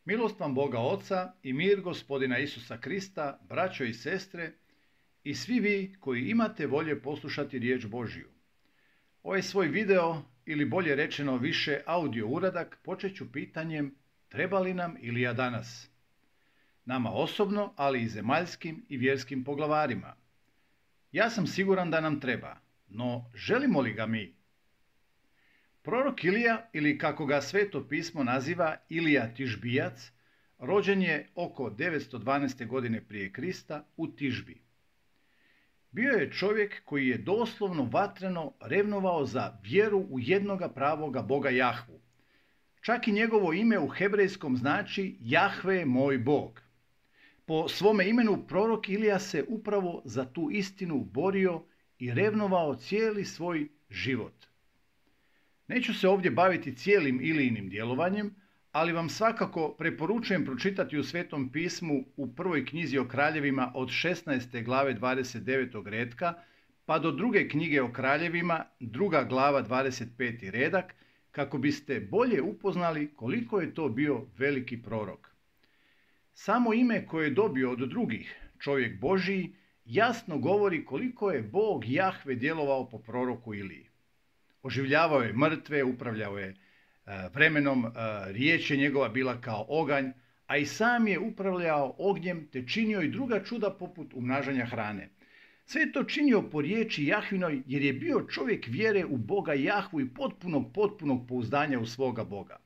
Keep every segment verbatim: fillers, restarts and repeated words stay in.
Milost vam Boga Oca i mir Gospodina Isusa Krista, braćo i sestre, i svi vi koji imate volje poslušati riječ Božju. Ovaj svoj video, ili bolje rečeno više audio uradak, počet ću pitanjem treba li nam Ilija danas? Nama osobno, ali i zemaljskim i vjerskim poglavarima. Ja sam siguran da nam treba, no želimo li ga mi? Prorok Ilija, ili kako ga Sveto pismo naziva Ilija Tišbijac, rođen je oko devetsto dvanaeste. godine prije Krista u Tišbi. Bio je čovjek koji je doslovno vatreno revnovao za vjeru u jednoga pravoga Boga Jahvu. Čak i njegovo ime u hebrejskom znači Jahve moj Bog. Po svome imenu prorok Ilija se upravo za tu istinu borio i revnovao cijeli svoj život. Neću se ovdje baviti cijelim Ilijinim djelovanjem, ali vam svakako preporučujem pročitati u Svetom pismu u prvoj knjizi o kraljevima od šesnaeste glave dvadeset devetog retka pa do druge knjige o kraljevima, druga glava dvadeset peti redak, kako biste bolje upoznali koliko je to bio veliki prorok. Samo ime koje je dobio od drugih, čovjek Božiji, jasno govori koliko je Bog Jahve djelovao po proroku Iliji. Oživljavao je mrtve, upravljao je vremenom, riječ je njegova bila kao oganj, a i sam je upravljao ognjem te činio i druga čuda poput umnažanja hrane. Sve je to činio po riječi Jahvinoj jer je bio čovjek vjere u Boga Jahvu i potpunog, potpunog pouzdanja u svoga Boga.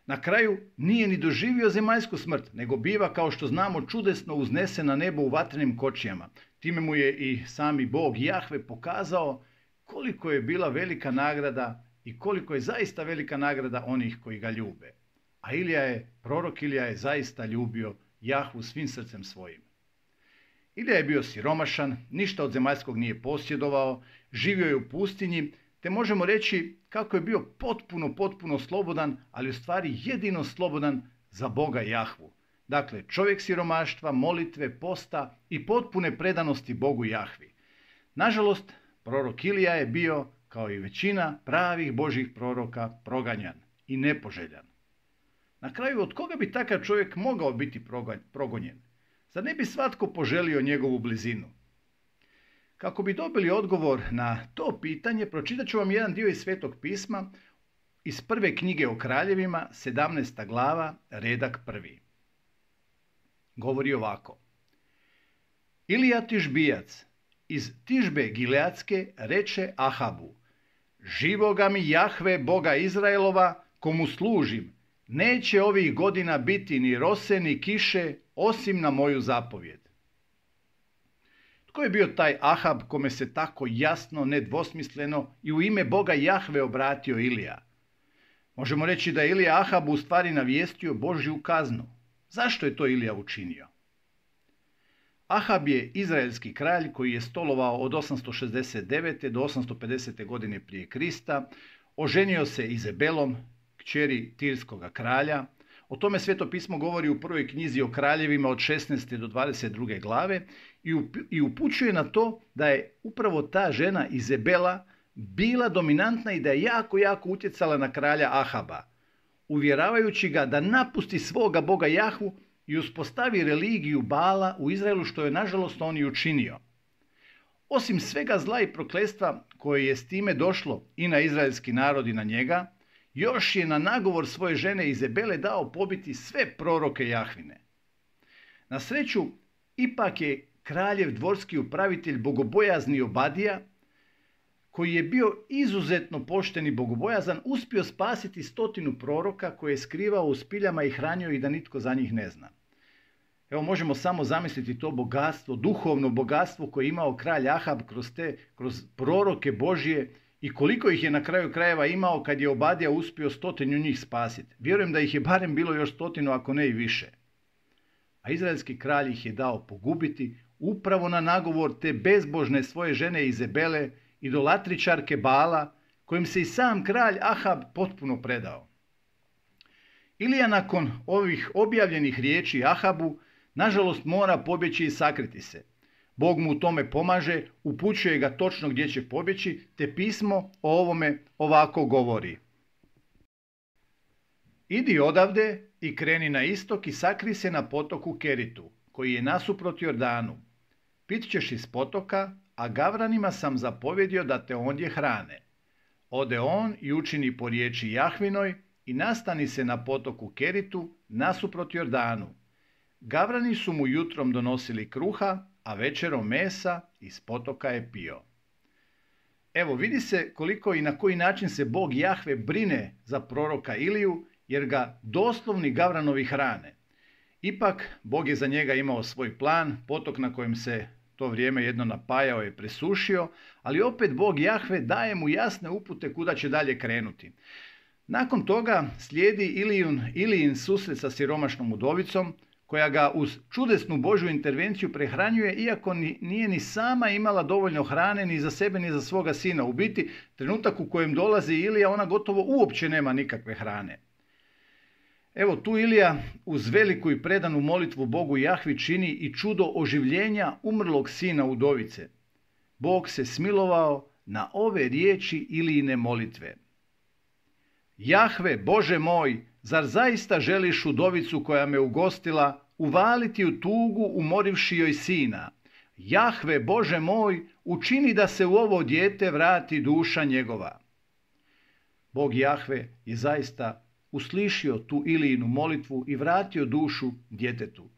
Na kraju nije ni doživio zemaljsku smrt, nego biva, kao što znamo, čudesno uznesen na nebo u vatrenim kočijama. Time mu je i sami Bog Jahve pokazao koliko je bila velika nagrada i koliko je zaista velika nagrada onih koji ga ljube. A Ilija je, prorok Ilija je zaista ljubio Jahvu svim srcem svojim. Ilija je bio siromašan, ništa od zemaljskog nije posjedovao, živio je u pustinji, te možemo reći kako je bio potpuno, potpuno slobodan, ali u stvari jedino slobodan za Boga Jahvu. Dakle, čovjek siromaštva, molitve, posta i potpune predanosti Bogu Jahvi. Nažalost, prorok Ilija je bio, kao i većina pravih Božjih proroka, proganjan i nepoželjan. Na kraju, od koga bi takav čovjek mogao biti progonjen? Zar ne bi svatko poželio njegovu blizinu? Kako bi dobili odgovor na to pitanje, pročitat ću vam jedan dio iz Svetog pisma iz prve knjige o kraljevima, sedamnaesta glava, redak prvi. Govori ovako. Ilija Tišbijac iz Tišbe Gileadske reče Ahabu: živoga mi Jahve, Boga Izraelova, komu služim, neće ovih godina biti ni rose ni kiše, osim na moju zapovjed. Tko je bio taj Ahab kome se tako jasno, nedvosmisleno i u ime Boga Jahve obratio Ilija? Možemo reći da je Ilija Ahabu u stvari navijestio Božju kaznu. Zašto je to Ilija učinio? Ahab je izraelski kralj koji je stolovao od osamsto šezdeset devete. do osamsto pedesete. godine prije Krista. Oženio se Izebelom, kćeri Tirskoga kralja. O tome Sveto pismo govori u prvoj knjizi o kraljevima od šesnaeste. do dvadeset druge. glave i upućuje na to da je upravo ta žena Izebela bila dominantna i da je jako, jako utjecala na kralja Ahaba, uvjeravajući ga da napusti svoga Boga Jahvu i uspostavi religiju Bala u Izraelu, što je nažalost on i učinio. Osim svega zla i prokletstva koje je s time došlo i na izraelski narod i na njega, još je na nagovor svoje žene Izebele dao pobiti sve proroke Jahvine. Na sreću, ipak je kraljev dvorski upravitelj bogobojazni Obadija, koji je bio izuzetno pošten i bogobojazan, uspio spasiti stotinu proroka koje je skrivao u spiljama i hranio ih da nitko za njih ne zna. Evo, možemo samo zamisliti to bogatstvo, duhovno bogatstvo koje je imao kralj Ahab kroz te, kroz proroke Božje i koliko ih je na kraju krajeva imao kad je Obadija uspio stotinu njih spasiti. Vjerujem da ih je barem bilo još stotinu, ako ne i više. A izraelski kralj ih je dao pogubiti upravo na nagovor te bezbožne svoje žene Izebele, idolatričarke Bala, kojim se i sam kralj Ahab potpuno predao. Ilija nakon ovih objavljenih riječi Ahabu, nažalost, mora pobjeći i sakriti se. Bog mu u tome pomaže, upućuje ga točno gdje će pobjeći, te pismo o ovome ovako govori. Idi odavde i kreni na istok i sakri se na potoku Keritu, koji je nasuprot Jordanu. Pit ćeš iz potoka, a gavranima sam zapovjedio da te ondje hrane. Ode on i učini po riječi Jahvinoj i nastani se na potoku Keritu nasuprot Jordanu. Gavrani su mu jutrom donosili kruha, a večerom mesa iz potoka je pio. Evo, vidi se koliko i na koji način se Bog Jahve brine za proroka Iliju, jer ga doslovni gavranovi hrane. Ipak, Bog je za njega imao svoj plan, potok na kojem se to vrijeme jedno napajao je presušio, ali opet Bog Jahve daje mu jasne upute kuda će dalje krenuti. Nakon toga slijedi Ilijun, Ilijin susret sa siromašnom udovicom, koja ga uz čudesnu Božju intervenciju prehranjuje, iako ni, nije ni sama imala dovoljno hrane ni za sebe ni za svoga sina. U biti, trenutak u kojem dolazi Ilija, ona gotovo uopće nema nikakve hrane. Evo tu Ilija uz veliku i predanu molitvu Bogu Jahvi čini i čudo oživljenja umrlog sina udovice. Bog se smilovao na ove riječi Ilijine molitve. Jahve, Bože moj, zar zaista želiš udovicu koja me ugostila uvaliti u tugu umorivši joj sina? Jahve, Bože moj, učini da se u ovo dijete vrati duša njegova. Bog Jahve je zaista uslišio tu Ilijinu molitvu i vratio dušu djetetu.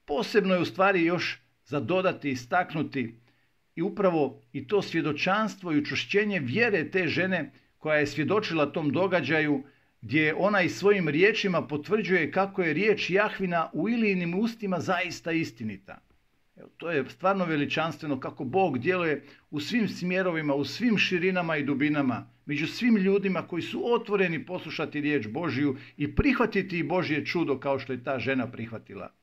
Posebno je u stvari još za dodati i istaknuti i upravo i to svjedočanstvo i učvršćenje vjere te žene koja je svjedočila tom događaju, gdje ona i svojim riječima potvrđuje kako je riječ Jahvina u Ilijinim ustima zaista istinita. Evo, to je stvarno veličanstveno kako Bog djeluje u svim smjerovima, u svim širinama i dubinama, među svim ljudima koji su otvoreni poslušati riječ Božju i prihvatiti Božje čudo kao što je ta žena prihvatila.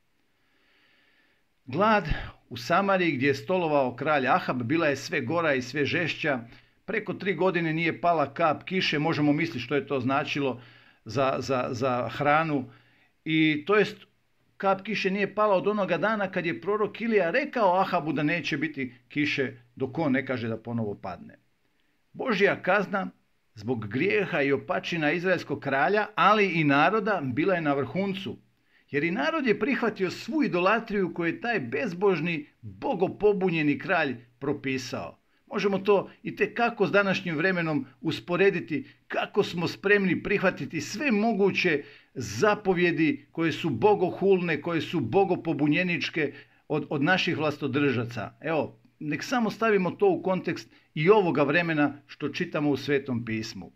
Glad u Samariji gdje je stolovao kralj Ahab bila je sve gora i sve žešća. Preko tri godine nije pala kap kiše, možemo misliti što je to značilo za, za, za hranu. I to jest, kap kiše nije pala od onoga dana kad je prorok Ilija rekao Ahabu da neće biti kiše dok on ne kaže da ponovo padne. Božja kazna zbog grijeha i opačina izraelskog kralja, ali i naroda, bila je na vrhuncu. Jer i narod je prihvatio svu idolatriju koju je taj bezbožni, bogopobunjeni kralj propisao. Možemo to i tekako s današnjim vremenom usporediti kako smo spremni prihvatiti sve moguće zapovjedi koje su bogohulne, koje su bogopobunjeničke od, od naših vlastodržaca. Evo, nek samo stavimo to u kontekst i ovoga vremena što čitamo u Svetom pismu.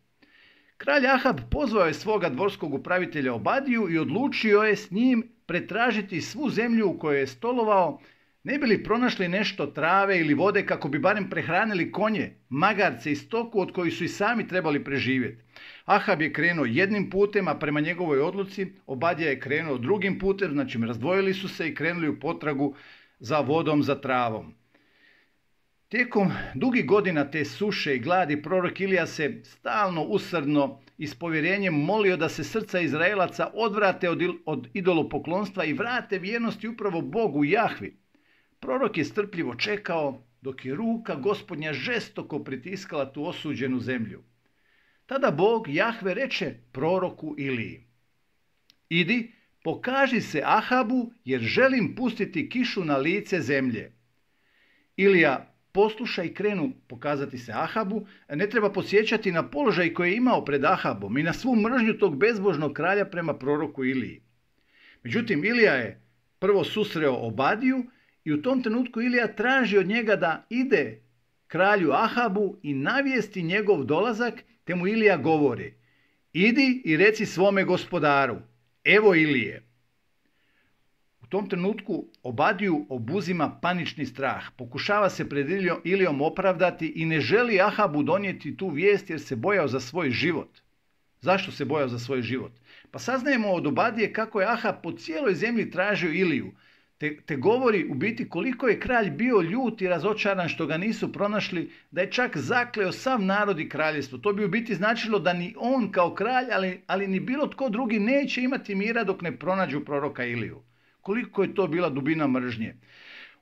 Kralj Ahab pozvao je svoga dvorskog upravitelja Obadiju i odlučio je s njim pretražiti svu zemlju u kojoj je stolovao, ne bi li pronašli nešto trave ili vode kako bi barem prehranili konje, magarce i stoku od kojih su i sami trebali preživjeti. Ahab je krenuo jednim putem, a prema njegovoj odluci Obadija je krenuo drugim putem, znači razdvojili su se i krenuli u potragu za vodom, za travom. Tijekom dugih godina te suše i gladi prorok Ilija se stalno usrdno i s povjerenjem molio da se srca Izraelaca odvrate od, od idolopoklonstva i vrate vjernosti upravo Bogu Jahvi. Prorok je strpljivo čekao dok je ruka Gospodnja žestoko pritiskala tu osuđenu zemlju. Tada Bog Jahve reče proroku Iliji: idi, pokaži se Ahabu jer želim pustiti kišu na lice zemlje. Ilija posluša i krenu pokazati se Ahabu. Ne treba podsjećati na položaj koji je imao pred Ahabom i na svu mržnju tog bezbožnog kralja prema proroku Iliji. Međutim, Ilija je prvo susreo Obadiju i u tom trenutku Ilija traži od njega da ide kralju Ahabu i navijesti njegov dolazak, te mu Ilija govori: idi i reci svome gospodaru, evo Ilije. U tom trenutku Obadiju obuzima panični strah, pokušava se pred Ilijom opravdati i ne želi Ahabu donijeti tu vijest jer se bojao za svoj život. Zašto se bojao za svoj život? Pa saznajemo od Obadije kako je Ahab po cijeloj zemlji tražio Iliju, te, te govori u biti koliko je kralj bio ljut i razočaran što ga nisu pronašli, da je čak zakleo sav narod i kraljevstvo. To bi u biti značilo da ni on kao kralj, ali, ali ni bilo tko drugi neće imati mira dok ne pronađu proroka Iliju. Koliko je to bila dubina mržnje.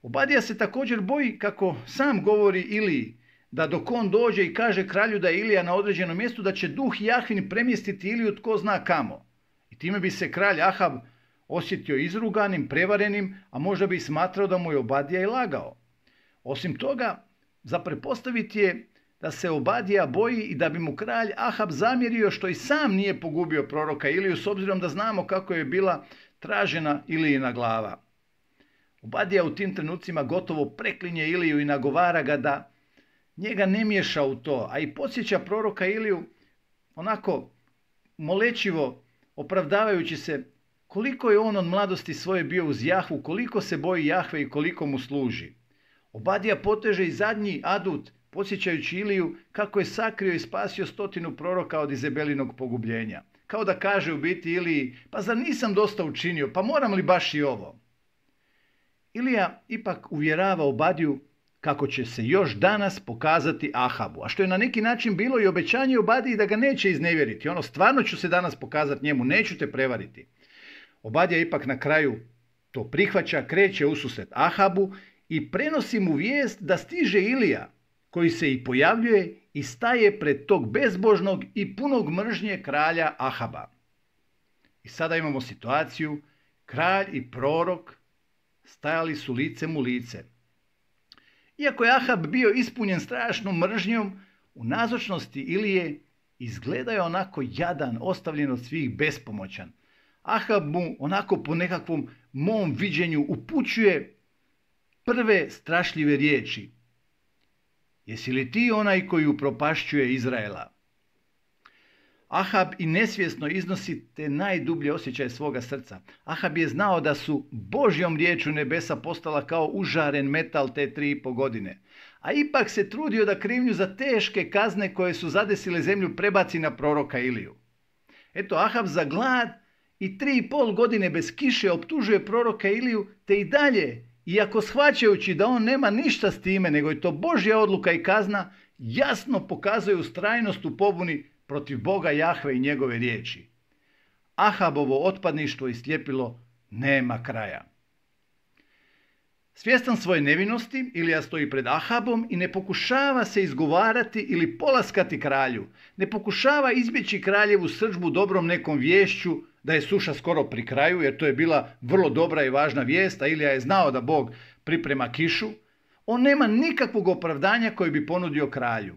Obadija se također boji, kako sam govori Iliji, da dok on dođe i kaže kralju da je Ilija na određenom mjestu, da će duh Jahvin premjestiti Iliju tko zna kamo. I time bi se kralj Ahab osjetio izruganim, prevarenim, a možda bi smatrao da mu je Obadija i lagao. Osim toga, za pretpostaviti je da se Obadija boji i da bi mu kralj Ahab zamjerio što i sam nije pogubio proroka Iliju, s obzirom da znamo kako je bila tražena Ilijina glava. Obadija u tim trenucima gotovo preklinje Iliju i nagovara ga da njega ne miješa u to, a i podsjeća proroka Iliju onako molečivo, opravdavajući se koliko je on od mladosti svoje bio uz Jahvu, koliko se boji Jahve i koliko mu služi. Obadija poteže i zadnji adut, podsjećajući Iliju kako je sakrio i spasio stotinu proroka od Izabelinog pogubljenja. Kao da kaže u biti Iliji, pa zar nisam dosta učinio, pa moram li baš i ovo? Ilija ipak uvjerava Obadiju kako će se još danas pokazati Ahabu, a što je na neki način bilo i obećanje Obadiji da ga neće iznevjeriti. Ono, stvarno ću se danas pokazati njemu, neću te prevariti. Obadija ipak na kraju to prihvaća, kreće ususret Ahabu i prenosi mu vijest da stiže Ilija, koji se i pojavljuje i staje pred tog bezbožnog i punog mržnje kralja Ahaba. I sada imamo situaciju, kralj i prorok stajali su licem u lice. Iako je Ahab bio ispunjen strašnom mržnjom, u nazočnosti Ilije izgleda je onako jadan, ostavljen od svih, bespomoćan. Ahab mu onako po nekakvom mom viđenju upućuje prve strašljive riječi. Jesi li ti onaj koji upropašćuje Izraela? Ahab i nesvjesno iznosi te najdublje osjećaje svoga srca. Ahab je znao da su Božjom riječu nebesa postala kao užaren metal te tri i po godine. A ipak se trudio da krivnju za teške kazne koje su zadesile zemlju prebaci na proroka Iliju. Eto, Ahab za glad i tri i pol godine bez kiše optužuje proroka Iliju, te i dalje, iako shvaćajući da on nema ništa s time, nego je to Božja odluka i kazna, jasno pokazuje ustrajnost u pobuni protiv Boga Jahve i njegove riječi. Ahabovo otpadništvo i sljepilo nema kraja. Svjestan svoje nevinosti, Ilija stoji pred Ahabom i ne pokušava se izgovarati ili polaskati kralju. Ne pokušava izbjeći kraljevu srdžbu dobrom nekom viješću da je suša skoro pri kraju, jer to je bila vrlo dobra i važna vijest, a Ilija je znao da Bog priprema kišu. On nema nikakvog opravdanja koje bi ponudio kralju.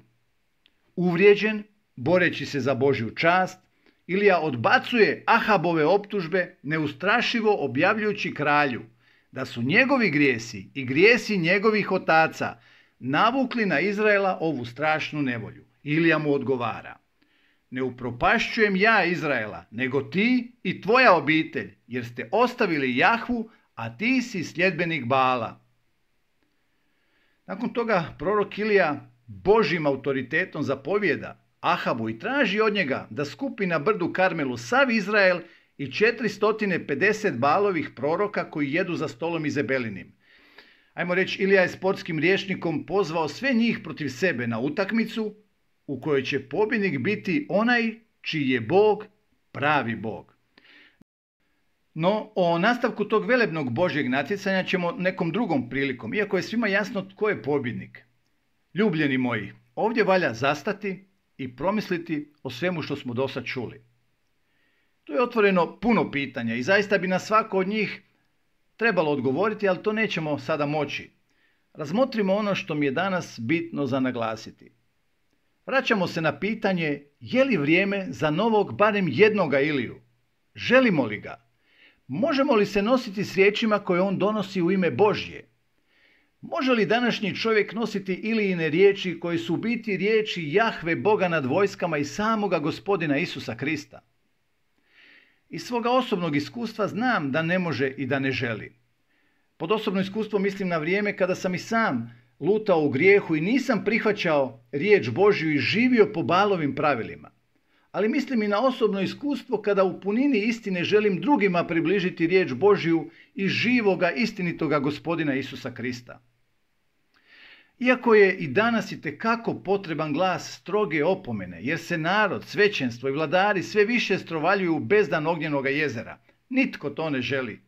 Uvrijeđen, boreći se za Božju čast, Ilija odbacuje Ahabove optužbe, neustrašivo objavljujući kralju da su njegovi grijesi i grijesi njegovih otaca navukli na Izraela ovu strašnu nevolju. Ilija mu odgovara: ne upropašćujem ja Izraela, nego ti i tvoja obitelj, jer ste ostavili Jahvu, a ti si sljedbenik Baala. Nakon toga prorok Ilija Božjim autoritetom zapovijeda Ahabu i traži od njega da skupi na brdu Karmelu sav Izrael i četiristo pedeset Baalovih proroka koji jedu za stolom Izabelinim. Ajmo reći, Ilija je sportskim rječnikom pozvao sve njih protiv sebe na utakmicu u kojoj će pobjednik biti onaj čiji je Bog pravi Bog. No, o nastavku tog velebnog Božjeg natjecanja ćemo nekom drugom prilikom, iako je svima jasno tko je pobjednik. Ljubljeni moji, ovdje valja zastati i promisliti o svemu što smo dosad čuli. Tu je otvoreno puno pitanja i zaista bi na svako od njih trebalo odgovoriti, ali to nećemo sada moći. Razmotrimo ono što mi je danas bitno za naglasiti. Vraćamo se na pitanje je li vrijeme za novog barem jednoga Iliju? Želimo li ga? Možemo li se nositi s riječima koje on donosi u ime Božje? Može li današnji čovjek nositi Ilijine riječi koje su u biti riječi Jahve Boga nad vojskama i samoga Gospodina Isusa Krista? Iz svoga osobnog iskustva znam da ne može i da ne želi. Pod osobno iskustvo mislim na vrijeme kada sam i sam lutao u grijehu i nisam prihvaćao riječ Božju i živio po Baalovim pravilima. Ali mislim i na osobno iskustvo kada u punini istine želim drugima približiti riječ Božju i živoga istinitoga Gospodina Isusa Krista. Iako je i danas itekako potreban glas stroge opomene, jer se narod, svećenstvo i vladari sve više strovaljuju u bezdan ognjenoga jezera, nitko to ne želi.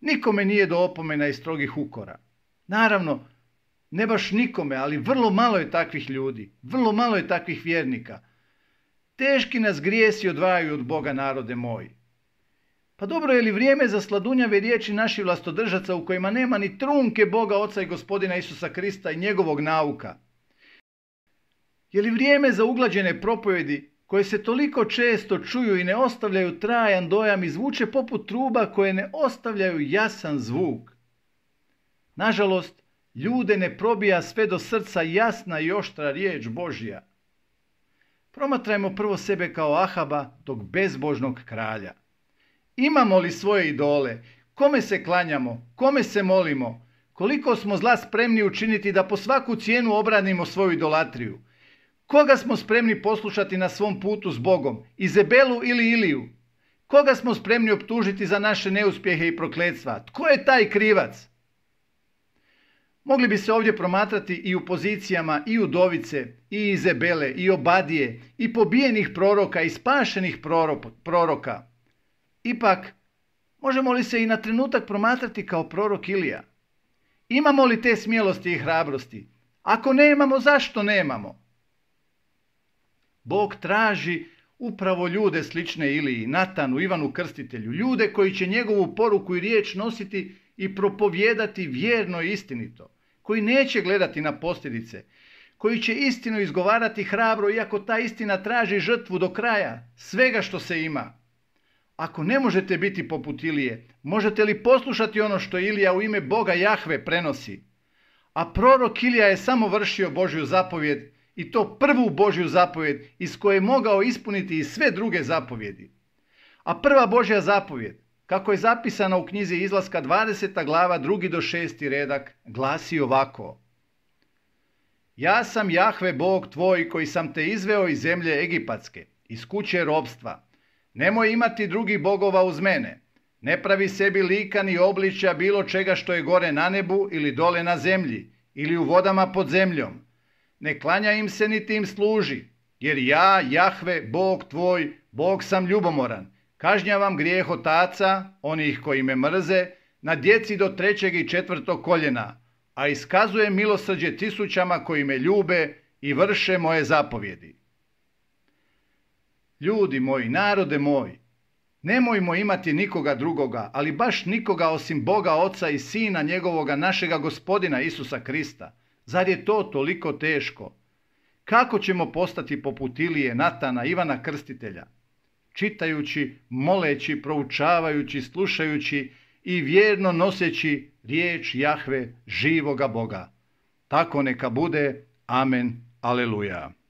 Nikome nije do opomena i strogih ukora. Naravno, ne baš nikome, ali vrlo malo je takvih ljudi, vrlo malo je takvih vjernika. Teški nas grijesi odvajaju od Boga, narode moji. Pa dobro, je li vrijeme za sladunjave riječi naših vlastodržaca u kojima nema ni trunke Boga Oca i Gospodina Isusa Krista i njegovog nauka? Je li vrijeme za uglađene propovjedi koje se toliko često čuju i ne ostavljaju trajan dojam i zvuče poput truba koje ne ostavljaju jasan zvuk? Nažalost, ljude ne probija sve do srca jasna i oštra riječ Božja. Promatrajmo prvo sebe kao Ahaba, tog bezbožnog kralja. Imamo li svoje idole? Kome se klanjamo? Kome se molimo? Koliko smo zla spremni učiniti da po svaku cijenu obranimo svoju idolatriju? Koga smo spremni poslušati na svom putu s Bogom? Izebelu ili Iliju? Koga smo spremni optužiti za naše neuspjehe i prokletstva? Tko je taj krivac? Mogli bi se ovdje promatrati i u pozicijama i udovice, i Izebele, i Obadije, i pobijenih proroka, i spašenih proroka. Ipak, možemo li se i na trenutak promatrati kao prorok Ilija? Imamo li te smjelosti i hrabrosti? Ako nemamo, zašto nemamo? Bog traži upravo ljude slične Iliji, Natanu, Ivanu Krstitelju, ljude koji će njegovu poruku i riječ nositi i propovijedati vjerno i istinito, koji neće gledati na posljedice, koji će istinu izgovarati hrabro iako ta istina traži žrtvu do kraja, svega što se ima. Ako ne možete biti poput Ilije, možete li poslušati ono što Ilija u ime Boga Jahve prenosi? A prorok Ilija je samo vršio Božju zapovjed, i to prvu Božju zapovjed iz koje je mogao ispuniti i sve druge zapovjedi. A prva Božja zapovjed, kako je zapisana u knjizi Izlaska dvadeseta glava drugi do šesti redak, glasi ovako: Ja sam Jahve Bog tvoj koji sam te izveo iz zemlje Egipatske, iz kuće ropstva. Nemoj imati drugih bogova uz mene. Ne pravi sebi lika ni obličja bilo čega što je gore na nebu ili dole na zemlji ili u vodama pod zemljom. Ne klanja im se niti im služi, jer ja, Jahve, Bog tvoj, Bog sam ljubomoran. Kažnjavam grijeh otaca, onih koji me mrze, na djeci do trećeg i četvrtog koljena, a iskazujem milosrđe tisućama koji me ljube i vrše moje zapovjedi. Ljudi moji, narode moj, nemojmo imati nikoga drugoga, ali baš nikoga osim Boga Oca i Sina njegovoga našega Gospodina Isusa Krista. Zar je to toliko teško? Kako ćemo postati poput Ilije, Natana, Ivana Krstitelja? Čitajući, moleći, proučavajući, slušajući i vjerno noseći riječ Jahve, živoga Boga. Tako neka bude. Amen. Aleluja.